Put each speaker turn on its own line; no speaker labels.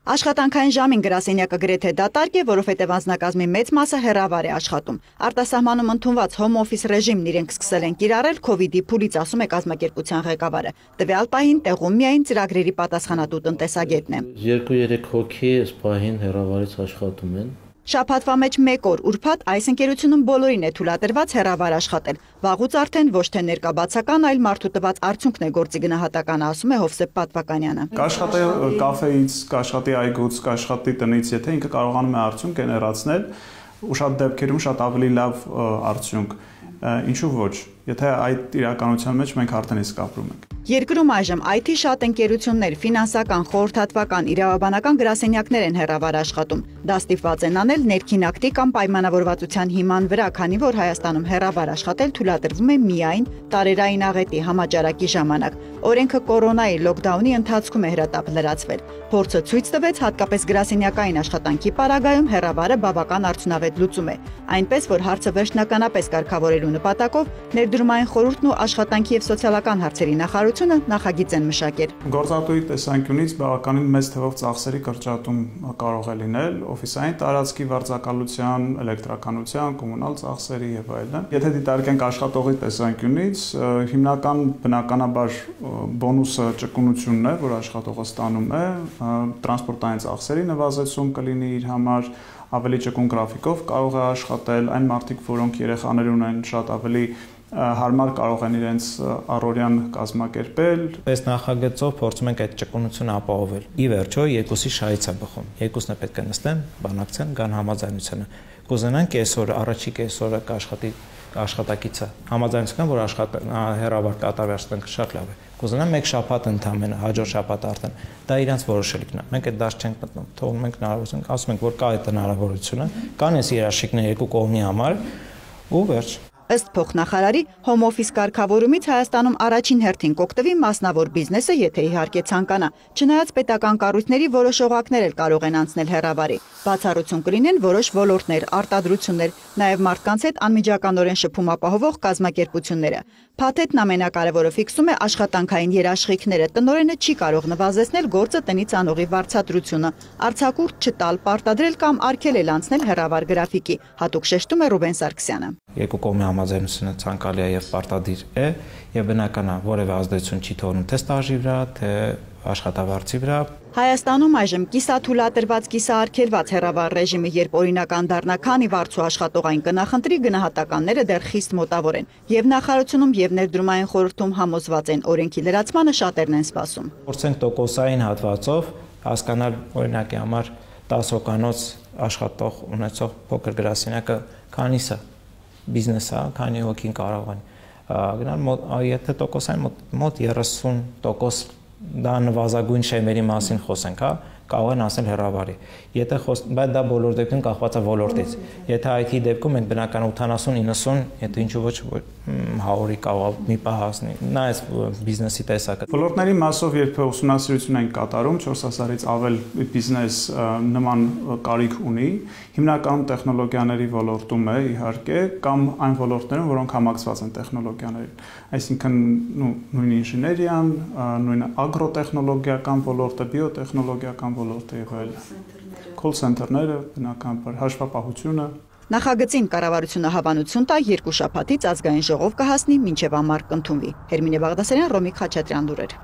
Աշխատանքային ժամին գրասենյակը գրեթե դատարկ է, որովհետև անձնակազմի մեծ մասը հեռավար է աշխատում։ Արտասահմանում ընդունված հոմ օֆիս ռեժիմն իրենք սկսել են կիրառել քովիդի փուլից, ասում է կազմակերպության ղեկավարը։ Տվյալ պահին տեղում միայն ծրագրերի պատասխանատու տնտեսագետն է։
2-3 հոգի այս պահին հեռավարից աշխատում են։
Շաբաթվա մեջ 1 օր ուրբաթ այս ընկերությունում բոլորին է թույլատրված հեռավար աշխատել։ Վաղուց արդեն ոչ թե ներկաբացական, այլ մարդու տված արդյունքն է գործի գնահատականը, ասում է Հովսեփ Պատվականյանը։
Կաշխատի կաֆեից, կաշխատի այգուց, կաշխատի տնից, եթե ինքը կարողանում է արդյունք գեներացնել, ու շատ դեպքերում շատ ավելի լավ արդյունք, ինչու ոչ, եթե այդ իրականության մեջ մենք արդեն իսկ ապրում ենք։
Երկրում այժմ IT շատ ընկերություններ, ֆինանսական, խորհրդատվական, իրավաբանական գրասենյակներ են հեռավար աշխատում։ Դա ստիպված են անել ներքին ակտի կամ պայմանավորվածության հիման վրա, քանի որ Հայաստանում հեռավար աշխատել թույլատրվում է միայն տարերային աղետի համաճարակի ժամանակ։ Օրենքը կորոնայի լոկդաունի ընթացքում է հրատապ լրացվել։ Փորձը ցույց տվեց, հատկապես գրասենյակային աշխատանքի պարագայում հեռավարը բավական արդյունավետ լուծում է։ Այնպես որ հարցը վերջնականապես կարգավորելու նպատակով Ներդրումային խորհուրդն ու աշխատանքի եւ սոցիալական հարցերի նախարարությունը նախագիծ են մշակել։
Գործատուի տեսանկյունից բավականին մեծ թվով ծախսերի կրճատում կարող է լինել օֆիսային տարածքի վարձակալության, էլեկտրականության, կոմունալ ծախսերի եւ այլն։ Եթե դիտարկենք աշխատողի տեսանկյունից, հիմնական բնականաբար բոնուսը ճկունությունն է, որ աշխատողը ստանում է, տրանսպորտային ծախսերի նվազեցում կլինի իր համար, ավելի ճկուն գրաֆիկով կարող է աշխատել, այն մարդիկ, որոնք երեխաներ ունեն, շատ ավելի հարմար կարող են իրենց առօրյան կազմակերպել։
Այս նախագծով փորձում ենք այդ ճկունությունը ապահովել։ Ի վերջո երկուսի շահից է բխում։ Երկուսն է պետք է նստեն, բանակցեն, գան համաձայնությանը։ Կուզենանք այսօր առաջի կեսօրը կաշխատի աշխատակիցը համաձայնության, որ հեռավար կատարվի աշխատանքը շատ լավ է։ Կուզենամ մեկ շաբաթ ընդամենը, հաջորդ շաբաթ արդեն։ Դա իրանց որոշելիքն է։ Մենք այդ դաշտ չենք մտնում, թողնում ենք հնարավորություն, ասում ենք, որ կա այդ հնարավորությունը, կան այս երաշխիքները երկու կողմի համար ու վերջ։
Ըստ փոխնախարարի, հոմ օֆիս կարգավորումից Հայաստանում առաջին հերթին կօգտվի մասնավոր բիզնեսը, եթե իհարկե ցանկանա։ Չնայած պետական կառույցների որոշ օղակներ էլ կարող են անցնել հեռավարի։ Բացառություն կլինեն որոշ ոլորտներ, արտադրություններ, նաև մարդկանց հետ անմիջականորեն շփում ապահովող կազմակերպությունները։ Փաթեթն ամենակարևորը ֆիքսում է աշխատանքային երաշխիքները։ Տնօրենը չի կարող նվազեցնել գործը տնից անողի վարձատրությունը, արձակուրդ չտալ, պարտադրել կամ արգելել անցնել հեռավար գրաֆիկի, հատուկ շեշտում է Ռուբեն Սարգսյանը։
Երկու կողմի համաձայնությունը ցանկալի է եւ պարտադիր է եւ բնական է, որևէ ազդեցություն չի թողնում թե ստաժի վրա, թե աշխատավարձի վրա։
Հայաստանում այժմ կիսաթույլատրված, կիսաարգելված հեռավար ռեժիմը երբ օրինական դառնա, քանի վարձու աշխատողային կնախընտրի, գնահատականները դեռ խիստ մոտավոր են։ Եվ նախարարությունում եւ ներդրումային խորհրդում համոզված են, օրենքի լրացմանը շատերն են սպասում։
Փորձենք տոկոսային հատվածով հասկանալ օրինակի համար 10 հոգանոց աշխատող ունեցող փոքր գրասենյակը քանիս է բիզնես է, քանի հոգին կարող են գնալ, եթե տոկոսային մոտ 30% դա նվազագույն շեմերի մասին խոսենք, հա, կարող են ասել հեռավարի։ Եթե բայց դա բոլոր դեպքում կախված է ոլորտից։ Եթե IT դեպքում մենք բնական 80-90, եթե ինչու ոչ 100-ի կարող մի պահ հասնի։ Նա այս բիզնեսի տեսակը։
Ոլորտների մասով երբ ուսումնասիրություն են կատարում, 4000-ից ավել բիզնես նման կարիք ունի, հիմնականում տեխնոլոգիաների ոլորտում է իհարկե, կամ այն ոլորտներում, որոնք համակցված են տեխնոլոգիաներին։ Այսինքն նույն ինժեներիան, նույն ագրոտեխնոլոգիական ոլորտը, բիոտեխնոլոգիական ոլորտը եւ այլն։ Call center-ները, բնականաբար հաշվապահությունը։
Նախագծին կառավարությունը հավանություն տա 2 շաբաթից ազգային ժողով կհասնի, մինչև ամառ կընդունվի։ Հերմինե Բաղդասարյան, Ռոմիկ Խաչատրյան լուրեր։